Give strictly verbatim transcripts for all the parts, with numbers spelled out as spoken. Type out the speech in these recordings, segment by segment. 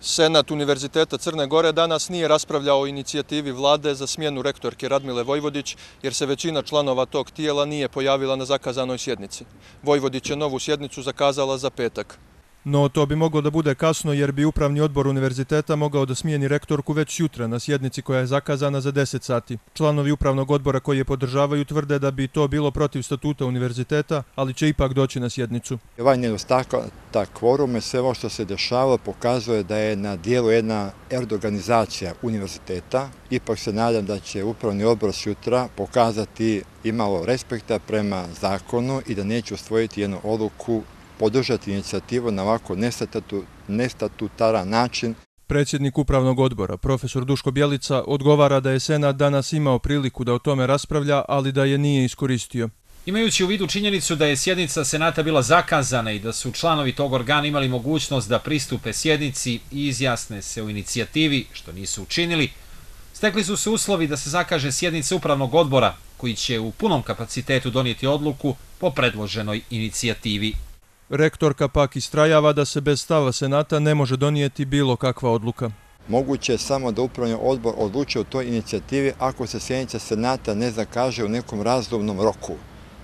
Senat Univerziteta Crne Gore danas nije raspravljao o inicijativi vlade za smjenu rektorke Radmile Vojvodić, jer se većina članova tog tijela nije pojavila na zakazanoj sjednici. Vojvodić je novu sjednicu zakazala za petak. No to bi moglo da bude kasno, jer bi upravni odbor univerziteta mogao da smijeni rektorku već jutra na sjednici koja je zakazana za deset sati. Članovi upravnog odbora koji je podržavaju tvrde da bi to bilo protiv statuta univerziteta, ali će ipak doći na sjednicu. Ovaj nedostatak kvoruma, sve ovo što se dešava, pokazuje da je na dijelu jedna erdoganizacija univerziteta. Ipak se nadam da će upravni odbor sutra pokazati imalo respekta prema zakonu i da neće usvojiti jednu odluku podržati inicijativu na ovako nestatutaran način. Predsjednik upravnog odbora, profesor Duško Bjelica, odgovara da je Senat danas imao priliku da o tome raspravlja, ali da je nije iskoristio. Imajući u vidu činjenicu da je sjednica Senata bila zakazana i da su članovi tog organa imali mogućnost da pristupe sjednici i izjasne se u inicijativi, što nisu učinili, stekli su se uslovi da se zakaže sjednica upravnog odbora, koji će u punom kapacitetu donijeti odluku po predloženoj inicijativi. Rektorka pak istrajava da se bez stava Senata ne može donijeti bilo kakva odluka. Moguće je samo da upravni odbor odluči o toj inicijativi ako se sjednica Senata ne zakaže u nekom razumnom roku.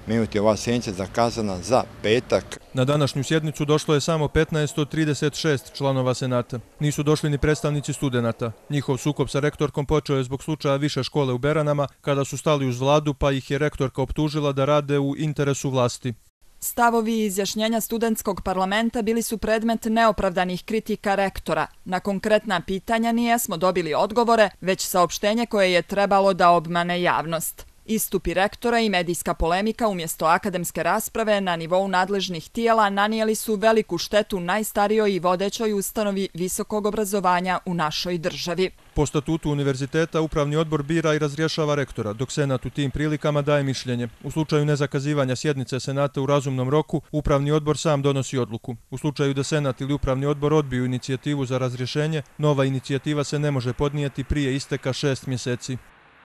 Međutim, ova sjednica je zakazana za petak. Na današnju sjednicu došlo je samo petnaest od trideset šest članova Senata. Nisu došli ni predstavnici studenata. Njihov sukob sa rektorkom počeo je zbog slučaja više škole u Beranama, kada su stali uz vladu, pa ih je rektorka optužila da rade u interesu vlasti. Stavovi i izjašnjenja studentskog parlamenta bili su predmet neopravdanih kritika rektora. Na konkretna pitanja nije smo dobili odgovore, već saopštenje koje je trebalo da obmane javnost. Istupi rektora i medijska polemika umjesto akademske rasprave na nivou nadležnih tijela nanijeli su veliku štetu najstarijoj i vodećoj ustanovi visokog obrazovanja u našoj državi. Po statutu univerziteta upravni odbor bira i razrješava rektora, dok Senat u tim prilikama daje mišljenje. U slučaju nezakazivanja sjednice Senata u razumnom roku, upravni odbor sam donosi odluku. U slučaju da Senat ili upravni odbor odbiju inicijativu za razrješenje, nova inicijativa se ne može podnijeti prije isteka šest mjeseci.